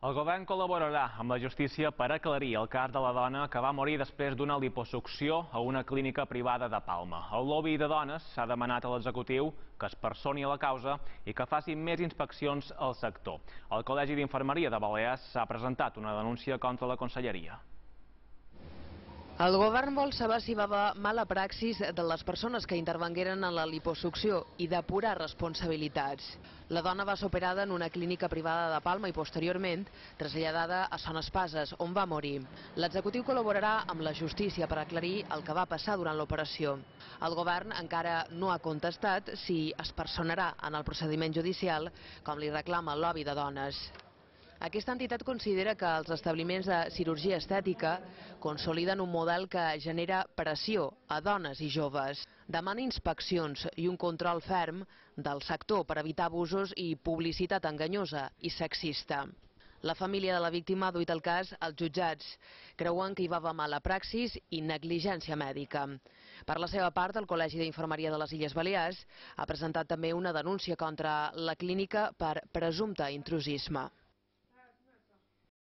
El govern col·laborarà amb la justícia per aclarir el cas de la dona que va morir després d'una liposucció a una clínica privada de Palma. El lobby de dones s'ha demanat a l'executiu que es personi a la causa i que faci més inspeccions al sector. El Col·legi d'Infermeria de Balears s'ha presentat una denúncia contra la conselleria. El govern vol saber si va haver mala praxis de les persones que intervengueren en la liposucció i depurar responsabilitats. La dona va ser operada en una clínica privada de Palma i posteriorment traslladada a Son Espases, on va morir. L'executiu col·laborarà amb la justícia per aclarir el que va passar durant l'operació. El govern encara no ha contestat si es personarà en el procediment judicial, com li reclama el lobby de dones. Aquesta entitat considera que els establiments de cirurgia estètica consoliden un model que genera pressió a dones i joves. Demana inspeccions i un control ferm del sector per evitar abusos i publicitat enganyosa i sexista. La família de la víctima ha duit el cas als jutjats. Creuen que hi va haver mala praxis i negligència mèdica. Per la seva part, el Col·legi d'Infermeria de les Illes Balears ha presentat també una denúncia contra la clínica per presumpte intrusisme.